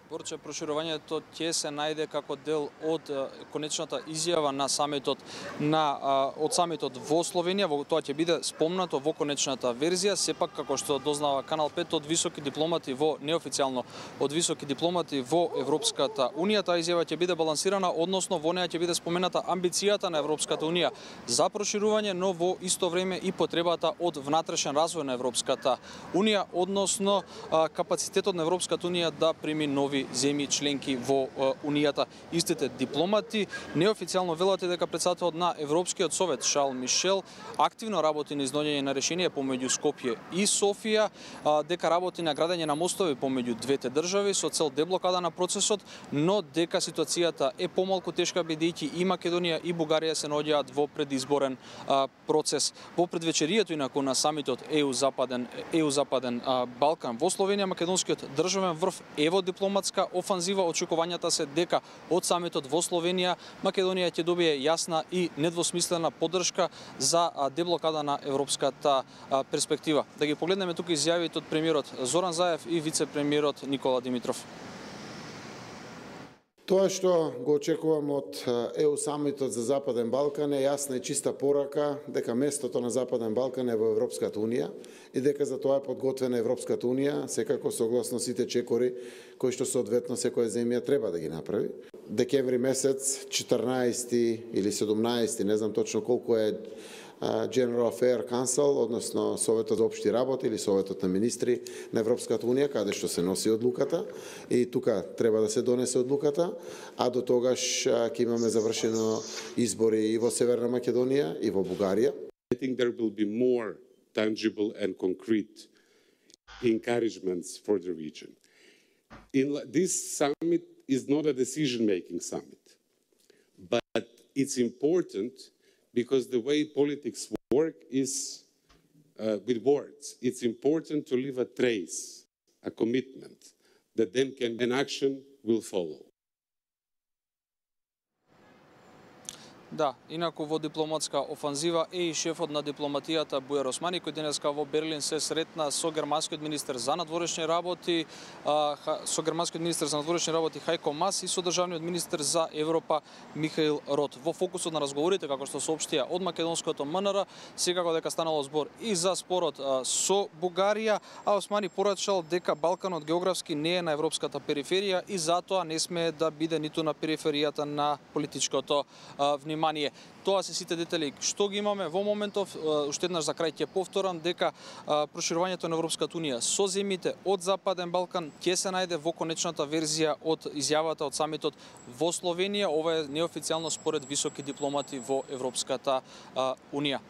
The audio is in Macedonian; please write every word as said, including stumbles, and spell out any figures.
Борче, проширувањето ќе се најде како дел од конечната изјава на самитот на од самитот во Словенија, во тоа ќе биде спомнато во конечната верзија, сепак како што дознава Канал пет од високи дипломати во неофицијално од високи дипломати во Европската унија, таа изјава ќе биде балансирана, односно во неа ќе биде спомената амбицијата на Европската унија за проширување, но во исто време и потребата од внатрешен развој на Европската унија, односно капацитетот на Европската унија да прими нови земји членки во Унијата. Истите дипломати неофицијално велат дека председателот на Европскиот совет Шарл Мишел активно работи на изнаоѓање на решение помеѓу Скопје и Софија, дека работи на градење на мостови помеѓу двете држави со цел деблокада на процесот, но дека ситуацијата е помалку тешка бидејќи и Македонија и Бугарија се наоѓаат во предизборен процес. Во предвечерието инаку на самитот е у Западен е у Западен Балкан во Словенија, македонскиот државен врв е во дипломатска офанзива. Очекувањата се дека од самитот во Словенија Македонија ќе добие јасна и недвосмислена поддршка за деблокада на европската перспектива. Да ги погледнеме тука изјавите од премиерот Зоран Заев и вице-премиерот Никола Димитров. Тоа што го очекувам од Е У самитот за Западен Балкан е јасна и чиста порака дека местото на Западен Балкан е во Европската унија и дека за тоа е подготвена Европската унија, секако согласно сите чекори кои што соодветно секоја земја треба да ги направи. Декември месец, четрнаесети или седумнаесети, не знам точно колку е General Affairs Council, односно Советот за општи работи или Советот на министри на Европската унија, каде што се носи одлуката, и тука треба да се донесе одлуката, а до тогаш ќе имаме завршено избори и во Северна Македонија и во Бугарија. I think there will be more tangible and concrete encouragements for the region. In this summit is not a decision-making summit, but it's important because the way politics work is uh, with words. It's important to leave a trace, a commitment, that then can, an action will follow. Да, инаку во дипломатска офанзива е и шефот на дипломатијата Бујар Османи, кој денеска во Берлин се сретна со германскиот министер за надворешни работи, со германскиот министер за надворешни работи Хајко Мас и со државниот министер за Европа Михаил Рот. Во фокусот на разговорите, како што соопштија од македонското М Н Р, секако дека станало збор и за спорот со Бугарија, а Османи порачал дека Балканот географски не е на европската периферија и затоа не смее да биде ниту на периферијата на политичкото внимание. Тоа се сите детали што ги имаме во моментов. Уште еднаш за крај ќе повторам дека проширувањето на Европската унија со земјите од Западен Балкан ќе се најде во конечната верзија од изјавата од самитот во Словенија. Ова е неофицијално според високи дипломати во Европската унија.